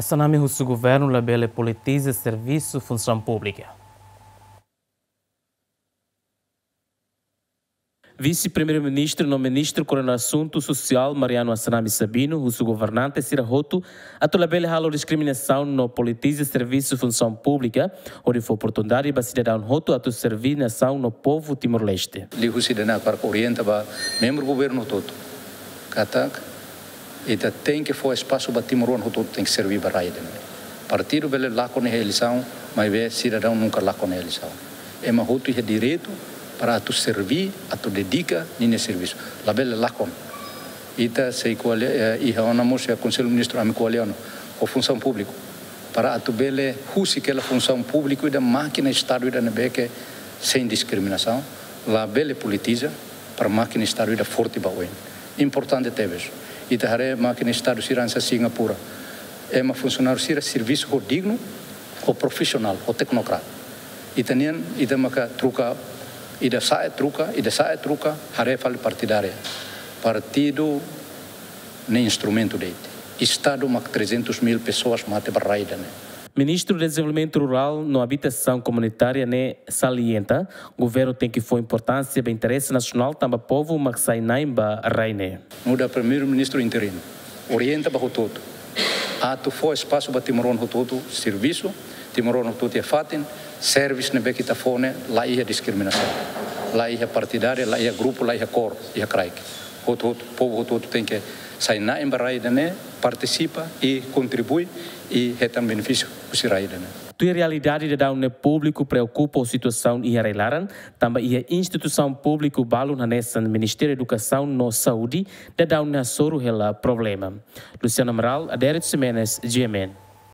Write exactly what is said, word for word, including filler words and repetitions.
Assanami husu governu labele politiza servisu funsaun públika. Vise-Primeiru-Ministru no Ministru koordena asuntu sosiál, Mariano Assanami Sabino, husu governante sira hotu atu labele halo diskriminasaun no politiza servisu funsaun públika, hodi fó oportunidade ba sidadaun hotu atu serví nasaun no povu Timor-Leste. Liuhusi ida-ne'e hakarak orienta ba membru governu hotu-hotu katak ita tenke fó espasu ba timoroan hotu-hotu tenke serví ba rai ida-ne'e. Partidu bele lakon iha eleisaun, maibé sidadaun nunka lakon iha eleisaun. Ema hotu iha direitu para atu serví, atu dedika ninia servisu. Labele lakon. Ita sei ko'alia, eh, iha ona mós iha Konsellu Ministru ami ko'alia ona ho funsaun públiku. Para atu bele husik hela funsaun públiku ida mákina Estadu ida ne'ebé ke sein diskriminasaun, labele politiza, para mákina Estadu ida forte ba oin. Importante tebes. Ita haree mákina Estadu sira hanesan Singapura. Ema funsionáriu sira servisu ho dignu, ho profisionál, ho teknokrata. Ita-nian, ita maka troka, ida sa'e troka, ida sa'e troka, haree fali partidária. Partidu ne'e instrumentu de'it. Estadu mak trezentos mil pessoas mate ba rai ida-ne'e. Ministru Dezenvolvimentu Rurál no Abitasaun Komunitária ne'e salienta, governu tenke fó importánsia ba interese nasionál tanba povu mak sai na'in ba rai ne'e. Nu'udar Primeiru-Ministru interinu, orienta ba hotu-hotu atu fó espasu ba timoroan hotu-hotu servisu, timoroan hotu-hotu iha fatin, servisu ne'ebé ke ita fó ne'e la iha diskriminasaun, la iha partidária, la iha grupu, la iha kór, iha kraik. Hotu-hotu, povu hotu-hotu tenke sai na'in ba rai ida-ne'e, partisipa i kontribui i hetan benefísiu husi rai ida-ne'e. Tuir realidade daudaun ne'e, públiku preokupa ho situasaun iha rai-laran, tanba iha instituisaun públiku balun hanesan Ministériu Edukasaun no Saúde daudaun ne'e hasoru hela problema. Luciano Amaral, Adérito Ximenes, G M N.